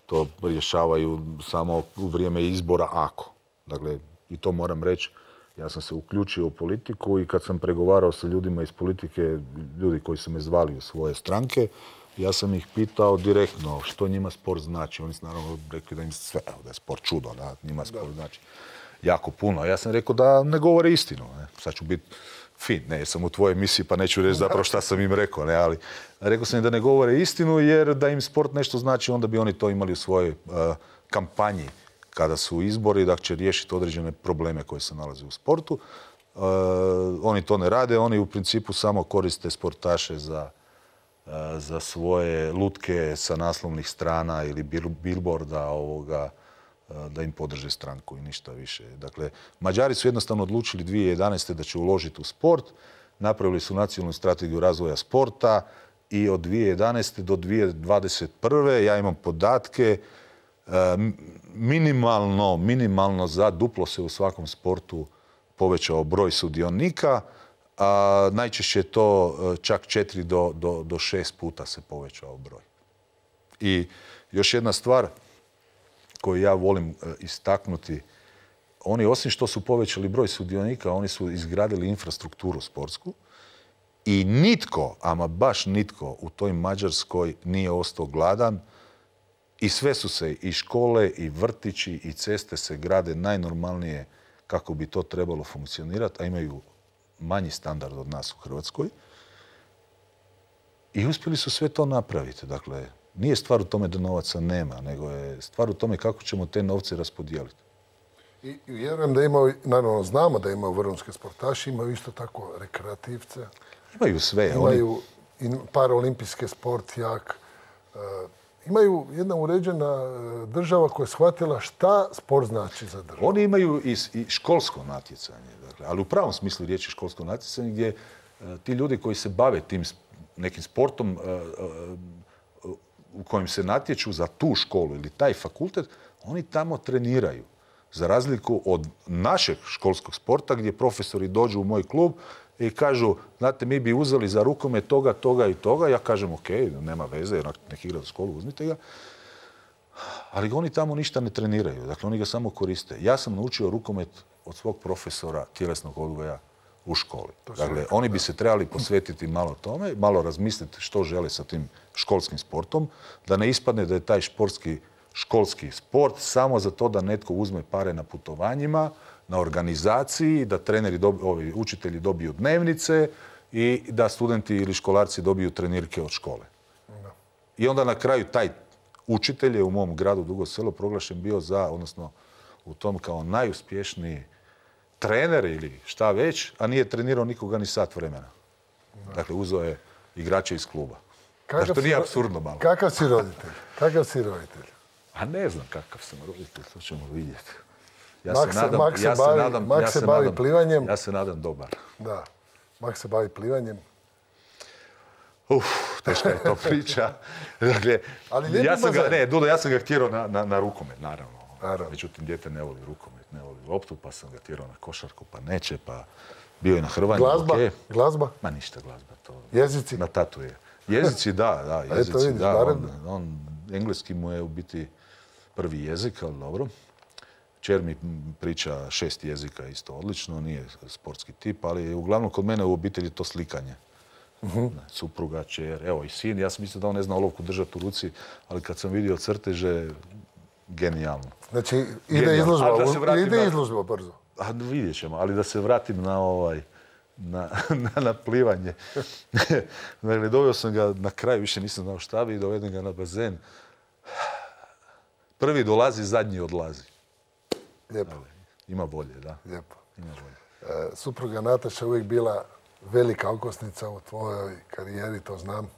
to rješavaju samo u vrijeme izbora ako. Dakle, i to moram reći, ja sam se uključio u politiku i kad sam pregovarao sa ljudima iz politike, ljudi koji su me zvali u svoje stranke, ja sam ih pitao direktno što njima sport znači. Oni su naravno rekli da im sve, da je sport čudo, da njima sport znači jako puno. Ja sam rekao da ne govore istinu. Sad ću biti fin, jer sam u tvojoj emisiji pa neću reći zapravo šta sam im rekao. Ali rekao sam im da ne govore istinu jer da im sport nešto znači, onda bi oni to imali u svojoj kampanji kada su izbori, da će riješiti određene probleme koje se nalaze u sportu. Oni to ne rade, oni u principu samo koriste sportaše za svoje lutke sa naslovnih strana ili billboarda da im podrže stranku i ništa više. Dakle, Mađari su jednostavno odlučili 2011. da će uložiti u sport, napravili su nacionalnu strategiju razvoja sporta i od 2011. do 2021. ja imam podatke, minimalno za duplo se u svakom sportu povećao broj sudionika, a najčešće je to čak 4 do 6 puta se povećao broj. I još jedna stvar koju ja volim istaknuti, oni osim što su povećali broj sudionika, oni su izgradili infrastrukturu sportsku i nitko, ama baš nitko u toj Mađarskoj nije ostao gladan i sve su se i škole i vrtići i ceste se grade najnormalnije kako bi to trebalo funkcionirati, a imaju manji standard od nas u Hrvatskoj. I uspjeli su sve to napraviti. Dakle, nije stvar u tome da novaca nema, nego je stvar u tome kako ćemo te novce raspodijeliti. I vjerujem da imaju, naravno znamo da imaju vrhunske sportaši, imaju isto tako rekreativce. Imaju sve. Imaju i paraolimpijski sport jak. Imaju jedna uređena država koja je shvatila šta sport znači za državu. Oni imaju i školsko natjecanje, dakle, ali u pravom smislu riječi školsko natjecanje gdje ti ljudi koji se bave tim nekim sportom u kojem se natječu za tu školu ili taj fakultet, Oni tamo treniraju. Za razliku od našeg školskog sporta gdje profesori dođu u moj klub i kažu, znate, mi bi uzeli za rukomet toga, toga i toga. Ja kažem, ok, nema veze, jer nek igra za školu, uzmite ga. Ali oni tamo ništa ne treniraju. Dakle, oni ga samo koriste. Ja sam naučio rukomet od svog profesora tjelesnog odgoja u školi. Dakle, oni bi se trebali posvetiti malo tome, malo razmisliti što žele sa tim školskim sportom, da ne ispadne da je taj školski sport samo za to da netko uzme pare na putovanjima, na organizaciji, da učitelji dobiju dnevnice i da studenti ili školarci dobiju trenirke od škole. I onda na kraju taj učitelj je u mom gradu Dugo Selo proglašen bio odnosno u tom kao najuspješniji trener ili šta već, a nije trenirao nikoga ni sat vremena. Dakle, uzeo je igrače iz kluba. Znači, to nije apsurdno malo. Kakav si roditelj? Kakav si roditelj? A ne znam kakav sam roditelj, to ćemo vidjeti. Mak se bavi plivanjem. Ja se nadam dobar. Da, Mak se bavi plivanjem. Teška je to priča. Dakle, ja sam ga htjerao na rukomet, naravno. Međutim, dijete ne voli rukomet, ne voli loptu, pa sam ga tjerao na košarku, pa neće, pa bio je na hrvanju. Glazba? Ma ništa glazba. Jezici? Na tatu je. Jezici, da. Jezici, da. Engleski mu je u biti prvi jezik, ali dobro. Kćer mi priča 6 jezika isto odlično, nije sportski tip, ali uglavnom kod mene u obitelji to slikanje. Supruga, kćer, evo i sin. Ja sam mislio da on ne zna olovku držati u ruci, ali kad sam vidio crteže, genijalno. Znači, ide izložba brzo. Vidjet ćemo, ali da se vratim na plivanje. Dakle, doveo sam ga na kraj, više nisam znao šta bi, dovedem ga na bazen. Prvi dolazi, zadnji odlazi. Lijepo. Ima volje, da. Lijepo. Supruga Nataša uvijek bila velika okosnica u tvojoj karijeri, to znam.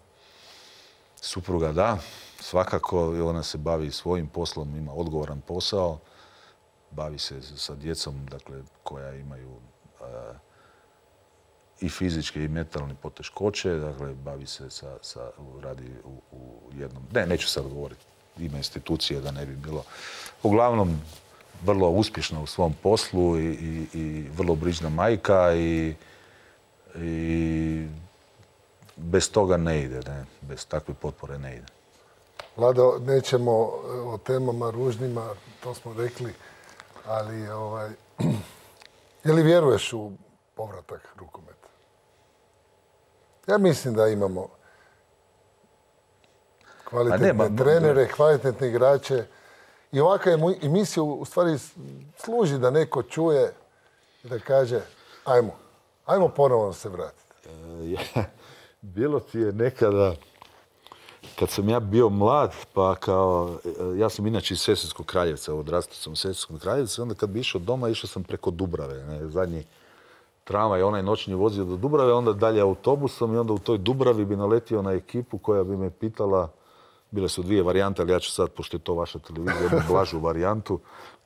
Supruga, da. Svakako, ona se bavi svojim poslom, ima odgovoran posao. Bavi se sa djecom, dakle, koja imaju i fizičke i mentalne poteškoće. Dakle, bavi se radi u jednom... neću sad govoriti ime institucije da ne bi bilo. Uglavnom, vrlo uspješna u svom poslu i vrlo brižna majka i bez toga ne ide, bez takve potpore ne ide. Vlado, nećemo o temama ružnima, to smo rekli, ali je li vjeruješ u povratak rukometa? Ja mislim da imamo kvalitetne trenere, kvalitetne igrače i ovakva emisija u stvari služi da neko čuje i da kaže ajmo ponovno se vratiti. Bilo ti je nekada, kad sam ja bio mlad, pa ja sam inače iz Sesvetskog Kraljevca, odrastao sam u Sesvetskom Kraljevcu, onda kad bi išao doma, išao sam preko Dubrave. Zadnji tramvaj, onaj noćni vozio do Dubrave, onda dalje autobusom i onda u toj Dubravi bi naletio na ekipu koja bi me pitala, bile su 2 varijante, ali ja ću sad, pošto je to vaša televizija, jednu blažu varijantu,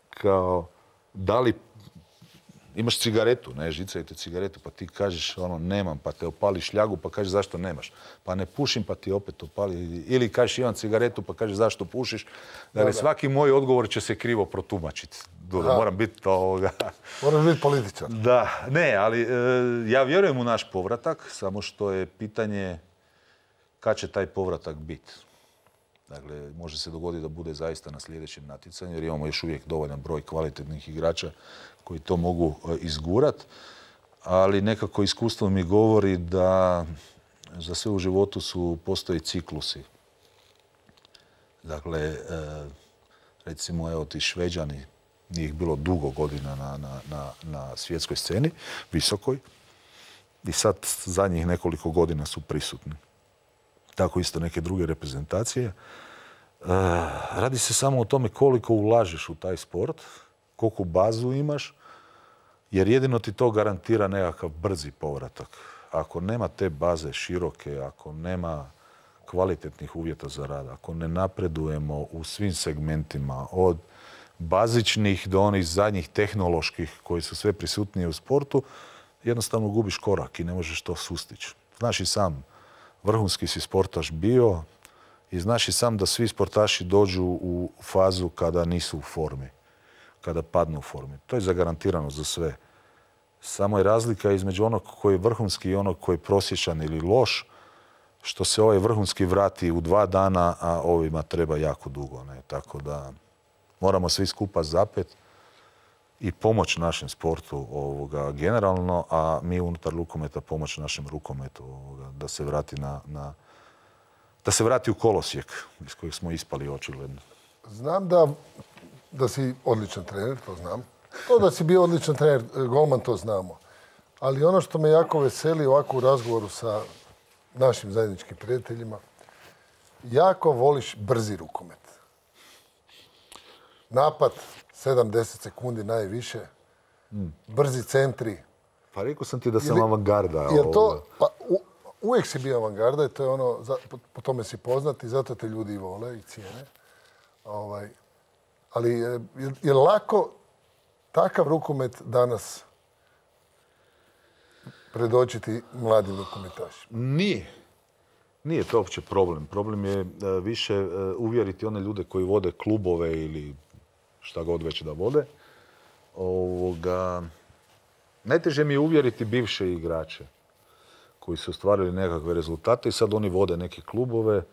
kao, da li imaš cigaretu, žicajte cigaretu, pa ti kažeš nemam, pa te opali šljagu, pa kažeš zašto nemaš. Pa ne pušim, pa ti opet opali. Ili kažeš imam cigaretu, pa kažeš zašto pušiš. Dakle, svaki moj odgovor će se krivo protumačiti. Moram biti Moraš biti političar. Da, ali ja vjerujem u naš povratak, samo što je pitanje kad će taj povratak biti. Dakle, može se dogoditi da bude zaista na sljedećem natjecanju, jer imamo još uvijek dovoljan broj kvalitetnih igrača koji to mogu izgurati, ali nekako iskustvo mi govori da za sve u životu postoji ciklusi. Dakle, recimo, evo ti Šveđani, nije ih bilo dugo godina na svjetskoj sceni, visokoj, i sad zadnjih nekoliko godina su prisutni. Tako isto neke druge reprezentacije. Radi se samo o tome koliko ulažeš u taj sport, koliko bazu imaš, jer jedino ti to garantira nekakav brzi povratak. Ako nema te baze široke, ako nema kvalitetnih uvjeta za rad, ako ne napredujemo u svim segmentima, od bazičnih do onih zadnjih tehnoloških koji su sve prisutnije u sportu, jednostavno gubiš korak i ne možeš to sustići. Znaš i sam, vrhunski si sportaš bio, I znaš i sam da svi sportaši dođu u fazu kada nisu u formi, kada padnu u formi. To je zagarantirano za sve. Samo je razlika između onog koji je vrhunski i onog koji je prosječan ili loš, što se ovaj vrhunski vrati u 2 dana, a ovima treba jako dugo. Ne? Tako da moramo svi skupa zapet i pomoć našem sportu generalno, a mi unutar rukometa pomoć našem rukometu da se vrati da se vrati u kolosijek iz kojeg smo ispali očigledno. Znam da si odličan trener, to znam. To da si bio odličan trener, golman, to znamo. Ali ono što me jako veseli ovako u razgovoru sa našim zajedničkim prijateljima, jako voliš brzi rukomet. Napad, 7-10 sekundi najviše, brzi centri. Pa rekao sam ti da sam avangarda. Uvijek si bio avangarda i to je ono, po tome si poznat i zato te ljudi i vole i cijene. Ali je lako takav rukomet danas predočiti mladim rukometašima? Nije to uopće problem. Problem je više uvjeriti one ljude koji vode klubove ili šta god već da vode. Najteže mi je uvjeriti bivše igrače koji su ostvarili nekakve rezultate i sad oni vode neke klubove.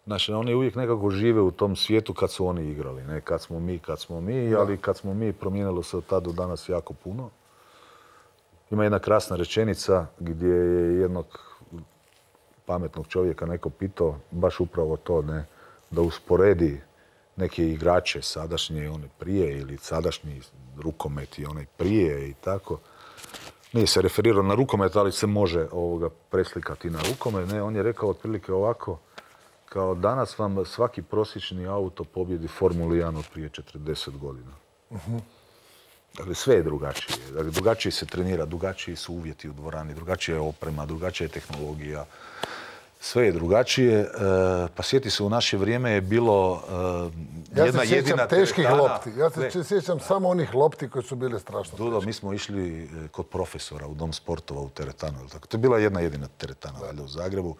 Znači, oni uvijek nekako žive u tom svijetu kad su oni igrali. Ne kad smo mi, ali kad smo mi promijenilo se od tada do danas jako puno. Ima jedna krasna rečenica gdje je jednog pametnog čovjeka neko pitao, baš upravo to, ne, da usporedi neke igrače sadašnje i one prije ili sadašnji rukomet i onaj prije i tako. Nije se referirao na rukomet, ali se može preslikati na rukomet. Ne, on je rekao otprilike ovako, kao danas vam svaki prosječni auto pobjedi Formulu 1 od prije 40 godina. Dakle, sve je drugačije. Dakle, drugačije se trenira, drugačiji su uvjeti u dvorani, drugačija je oprema, drugačija je tehnologija. Sve je drugačije. Pa sjeti se, u naše vrijeme je bilo jedna jedina teretana. Ja se sjećam teških lopti. Ja se sjećam samo onih lopti koji su bile strašno teške. Mi smo išli kod profesora u Dom sportova u teretanu. To je bila jedna jedina teretana u Zagrebu.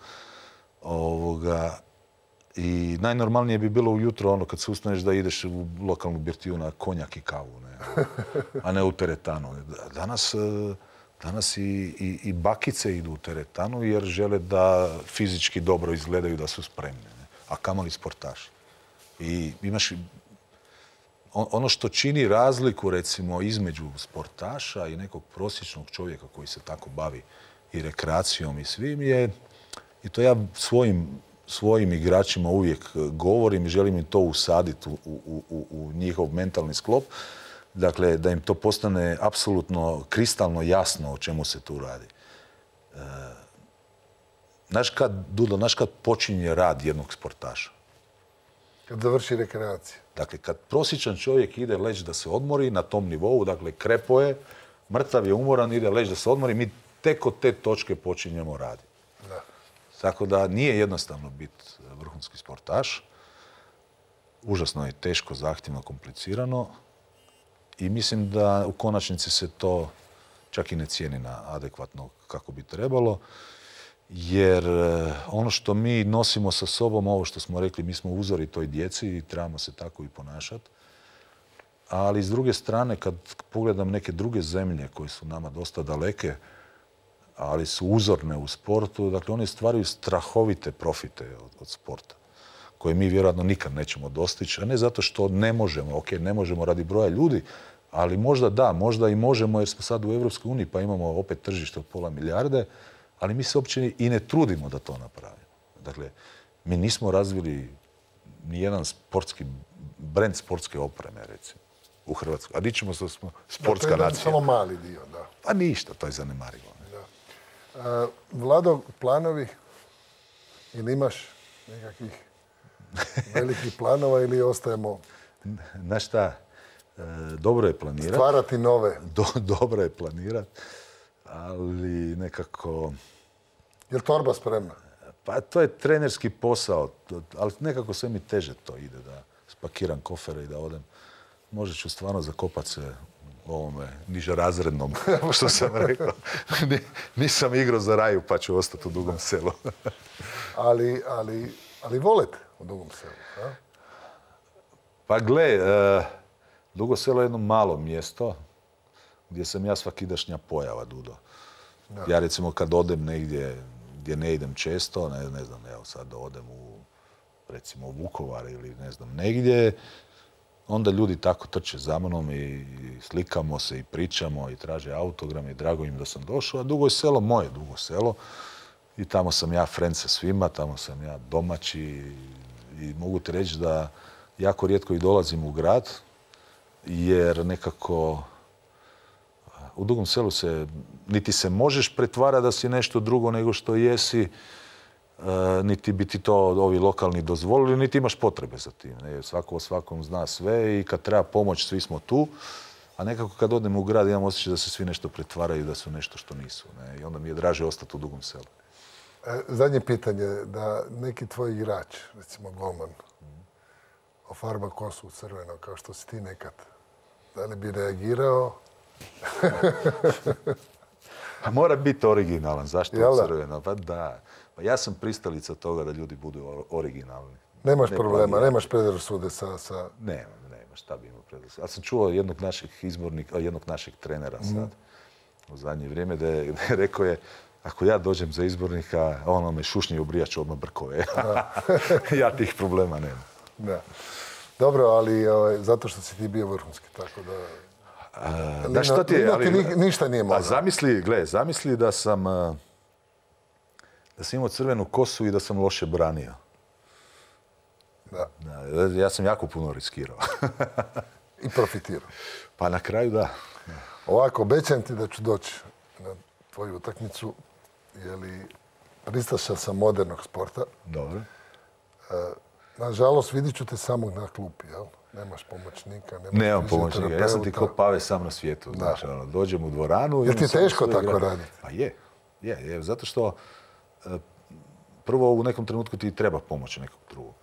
I najnormalnije bi bilo ujutro kad se ustaneš da ideš u lokalnu birtiju na konjak i kavu, ne? A ne u teretanu. Danas i bakice idu u teretanu jer žele da fizički dobro izgledaju, da su spremni. Ne? A kamoli sportaši. I imaš ono što čini razliku, recimo, između sportaša i nekog prosječnog čovjeka koji se tako bavi i rekreacijom i svim je, i to ja svojim igračima uvijek govorim i želim im to usaditi u njihov mentalni sklop. Dakle, da im to postane apsolutno kristalno jasno o čemu se tu radi. Znaš kad počinje rad jednog sportaša? Kad završi rekreacija. Dakle, kad prosječan čovjek ide leći da se odmori na tom nivou, dakle, krepo je, mrtav je, umoran, ide leći da se odmori, mi tek od te točke počinjemo raditi. Tako da nije jednostavno biti vrhunski sportaš. Užasno je teško, zahtjevno, komplicirano. I mislim da u konačnici se to čak i ne cijeni na adekvatno kako bi trebalo. Jer ono što mi nosimo sa sobom, ovo što smo rekli, mi smo uzori toj djeci i trebamo se tako i ponašati. Ali s druge strane, kad pogledam neke druge zemlje koje su nama dosta daleke, ali su uzorne u sportu, dakle oni stvaraju strahovite profite od sporta, koje mi vjerojatno nikad nećemo dostići, a ne zato što ne možemo, ne možemo radi broja ljudi, ali možda i možemo jer smo sad u Europskoj uniji pa imamo opet tržište od 500 milijarde, ali mi se uopće i ne trudimo da to napravimo. Dakle, mi nismo razvili ni jedan brend sportske opreme, recimo, u Hrvatskoj. A dičemo se da smo sportska nacija. To je samo mali dio, da. Pa ništa, to je zanemarivo. Vlado, planovi? Ili imaš nekakvih velikih planova ili ostajemo... Znaš šta, dobro je planirati. Stvarati nove. Dobro je planirati, ali nekako... Je li torba spremna? Pa to je trenerski posao, ali nekako sve mi teže to ide, da spakiram kofere i da odem. Možda ću stvarno zakopati se ovome nižerazrednom, što sam rekao. Nisam igrao za Raju, pa ću ostati u Dugom Selu. Ali Ali volite u Dugom Selu, a? Pa gle, Dugo Selo je jedno malo mjesto gdje sam ja svakidašnja pojava, Dudo. Ja recimo kad odem negdje gdje ne idem često, ne znam, evo sad odem recimo u Vukovar ili ne znam negdje, onda ljudi tako trče za mnom i slikamo se i pričamo i traže autogram i drago im da sam došao, a Dugo je selo moje, Dugo Selo. I tamo sam ja friend sa svima, tamo sam ja domaći i mogu ti reći da jako rijetko i dolazim u grad, jer nekako u Dugom Selu niti se možeš pretvarati da si nešto drugo nego što jesi, niti bi ti to ovi lokalni dozvolili, niti imaš potrebe za tim. Svako o svakom zna sve i kad treba pomoć, svi smo tu. A nekako kad odem u grad imam osjećaj da se svi nešto pretvaraju, da su nešto što nisu. I onda mi je draže ostati u Dugom Selu. Zadnje pitanje, da neki tvoj igrač, recimo golman, ofarba kosu u crveno, kao što si ti nekad, da li bi reagirao? A mora biti originalan. Zašto Jel da? crveno? Pa da. Pa ja sam pristalica toga da ljudi budu originalni. Nemaš problema, nemaš predrasude sa... Nema, šta bi imao predrasude. Ali sam čuo jednog našeg trenera sad u zadnje vrijeme da je rekao je, ako ja dođem za izbornika, ono me šušnje ubrijač odmah brkove. Ja tih problema nemam. Da. Dobro, ali zato što si ti bio vrhunski, tako da... Da što ti je, ali... Ništa nije mogao. A zamisli da sam imao crvenu kosu i da sam loše branio. Da. Ja sam jako puno riskirao. I profitirao. Pa na kraju da. Ovako, obećam ti da ću doći na tvoju utakmicu, jer pristaša sam modernog sporta. Dobro. Nažalost, vidit ću te samog na klupi, jel? Nemaš pomoćnika, nemam pomoćnika. Ja sam ti ko Pave sam na svijetu. Znaš, dođem u dvoranu... Jel ti teško tako raditi? Pa je. Zato što prvo u nekom trenutku ti treba pomoć nekog drugog.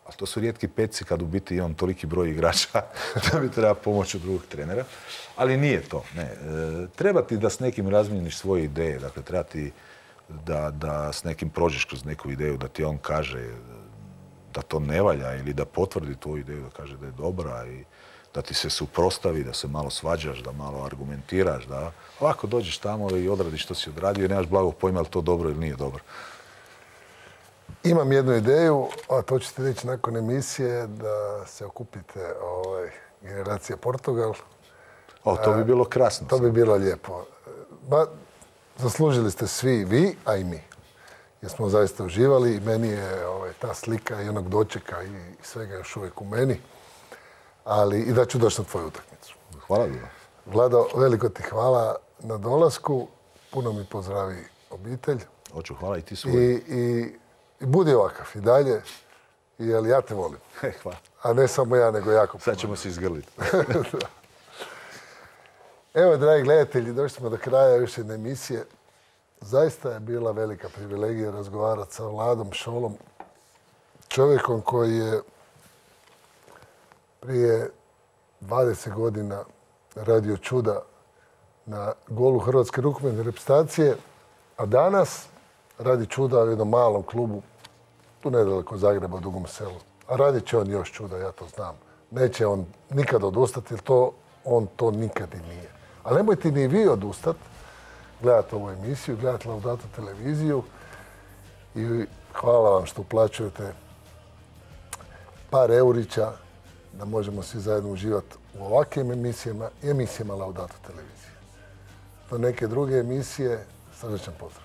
A to su rijetki peci kad u biti imam toliki broj igrača da mi treba pomoć od drugog trenera. Ali nije to. Treba ti da s nekim razmijeniš svoje ideje. Dakle, treba ti da s nekim prođeš kroz neku ideju, da ti on kaže da to ne valja ili da potvrdi tu ideju, da kaže da je dobra i da ti se suprotstavi, da se malo svađaš, da malo argumentiraš, da ovako dođeš tamo i odradiš što si odradio i nemaš blagog pojma je li to dobro ili nije dobro. Imam jednu ideju, a to ćete reći nakon emisije, da se okupite generacija Portugal. To bi bilo krasno. To bi bilo lijepo. Zaslužili ste svi vi, a i mi. Jer smo zaista uživali i meni je ta slika i onog dočeka i svega još uvijek u meni. Ali i da ću doći na tvoju utakmicu. Hvala bilo. Vlado, veliko ti hvala na dolasku. Puno mi pozdravi obitelj. Hoću, hvala i ti svoj. I budi ovakav i dalje, jer ja te volim. Hvala. A ne samo ja, nego jako puno. Sad ćemo se izgrliti. Evo, dragi gledatelji, došli smo do kraja još jedne emisije. Zaista je bila velika privilegija razgovarati sa Vladom Šolom, čovjekom koji je prije 20 godina radio čuda na golu Hrvatske rukometne reprezentacije, a danas radi čuda u jednom malom klubu, tu nedaleko Zagreba, u Dugom Selu. A radit će on još čuda, ja to znam. Neće on nikad odustati, jer on to nikad i nije. Ali nemojte ni vi odustati, gledati ovu emisiju, gledati Laudato televiziju i hvala vam što uplaćujete par eurića da možemo svi zajedno uživati u ovakvim emisijama i emisijama Laudato televizije. Do neke druge emisije, srdečan pozdrav.